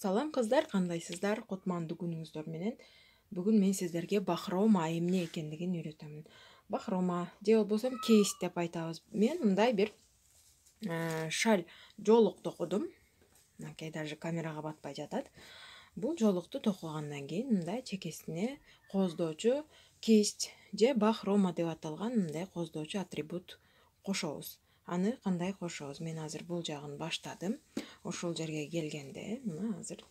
Салам кыздар, кандайсыздар? Кутмандуу күнүңүздөр менен. Бүгүн мен сиздерге бахрома эмне экендигин үйрөтөмүн. Бахрома же болбосо кейс деп айтабыз. Мен мындай бир шаль жоолук токудум. Мынакей даже камерага батпай жатат. Бул жоолукту токугандан кийин мындай чекесине кооздоочу кейс же бахрома деп аталган мындай кооздоочу атрибут кошобуз. Аны кандай кошобуз? Мен азыр бул жагын баштадым. Ошол жерге келгенде мына азыр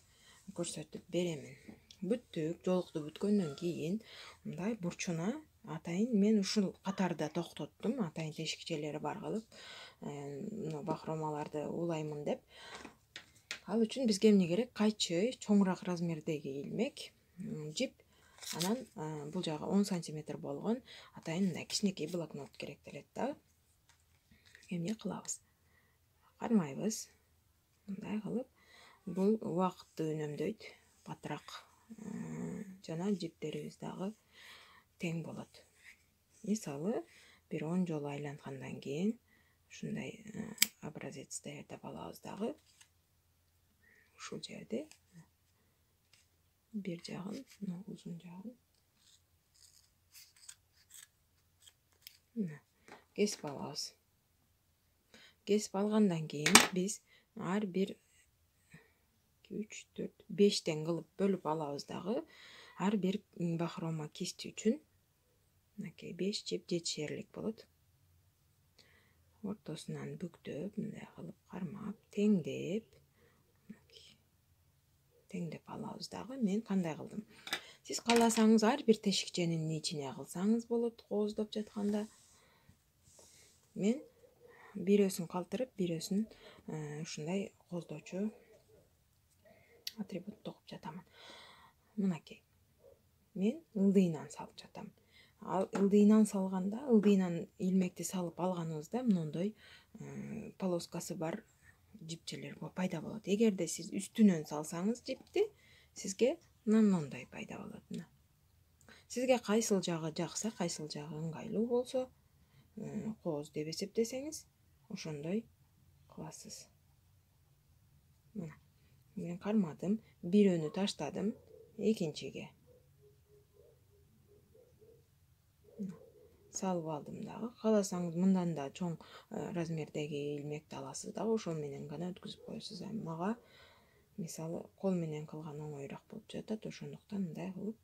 көрсөтүп беремин. Бүттүк, жоолукту бүткөндөн кийин мындай бурчуна атайын мен ушул катарда токтоттум. Атайын тешикчелери бар кылып, бахромаларды улаймын деп. Ал үчүн бизге эмне керек? Кайчы, чоңураак размердеги илмек, жип, анан бул жагы 10 сантиметр болгон атайын мындай кичинекей блокнот керектелет да. Эмне кылабыз? Кармайбыз. Мындай кылып, бул убакытты үнөмдөйт, батыраак жана жиптерибиз дагы тең болот. Мисалы, бир 10 жолу айлангандан кийин ушундай образец даярдап алабыз дагы. Ушул жерде бир жагын, узун жагын кесип алабыз. Кесип алгандан кийин биз ар бир 2, 3, 4, 5тен кылып бөлүп алабыз дагы. Ар бир бахрома кисти үчүн мынакей 5 жип жетишерлик болот. Ортосунан бүктөп, мындай кылып кармап, теңдеп алабыз дагы. Мен кандай кылдым? Сиз кааласаңыз ар бир тешикченин ичине кылсаңыз болот, кооздоп жатканда. Мен бирөөсүн калтырып, бирөөсүн ушундай кооздоочу атрибут токуп жатамын. Мынакей. Мен ылдыйынан салып жатам. Ал ылдыйынан салганда, ылдыйынан илмекти салып алганыбызда мындай полоскасы бар жипчелер пайда болот. Эгерде сиз үстүнөн салсаңыз жипти, сизге мындай пайда болот. Сизге кайсыл жагы жакса, кайсыл жагы ыңгайлуу болсо, кооз деп эсептесеңиз, ошондой кыласыз. Мына, мен кармадым, бирөөнү таштадым, экинчиге салып алдым дагы. Кааласаңыз мындан да чоң размердеги илмекти аласыз дагы, ошол менен гана өткүзүп коесуз. Мага мисалы кол менен кылган оңоюраак болуп жатат, ошондуктан мындай кылып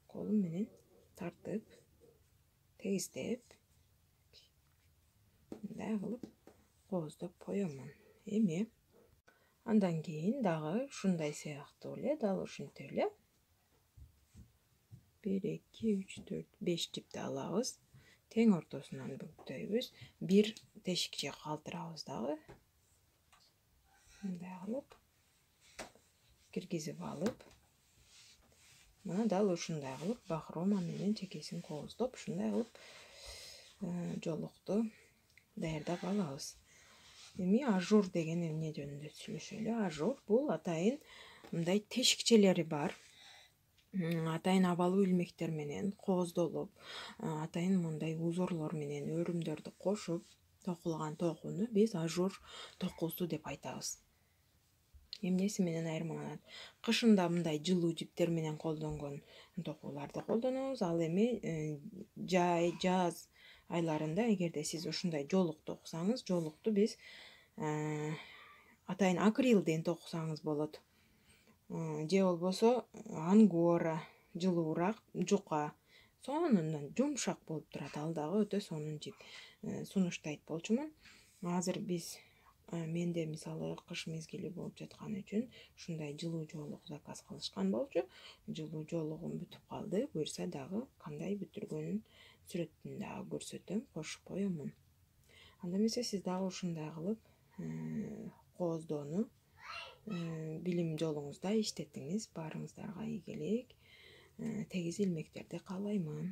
колум менен тартып, тегиздеп, мындай кылып кооздоп коемун. Эми андан кийин дагы ушундай сыяктуу эле, дал ушинтип эле 1, 2, 3, 4, 5 жипти алабыз. Тең ортосунан бүктөйбүз. Бир тешикче калтырабыз дагы. Мындай кылып киргизип алып, мына дал ушундай кылып бахрома менен чекесин кооздоп, ушундай кылып жоолукту даярдап алабыз. Эми ажур деген эмне жөнүндө сүйлөшөлү. Ажур бул атайын мындай тешикчелери бар, атайын абалуу илмектер менен кооздолуп, атайын мындай узорлор менен өрүмдөрдү кошуп токулган токууну биз ажур токуусу деп айтабыз. Эмнеси менен айырмаланат? Кышында мындай жылуу жиптер менен колдонгон токууларды колдонобуз. Ал эми жаз айларында эгерде сиз ушундай жоолук токусаңыз, жоолукту биз атайын акрилден токусаңыз болот. Же болбосо ангора, жылуураак жука, сонун жумшак болуп турат. Ал дагы өтө сонун жип. Сунуштайт болчумун. Азыр менде мисалы кыш мезгили болуп жаткан үчүн ушундай жылуу жоолук заказ кылышкан болчу. Жылуу жоолугум бүтүп калды. Буюрса дагы кандай бүтүргөнүн сүрөтүн дагы көрсөтөм, кошуп коемун. Анда эмесе сиз дагы ушундай кылып кооздоону билим жолуңузда иштетиңиз. Баарыңыздарга ийгилик, тегиз илмектерди каалаймын.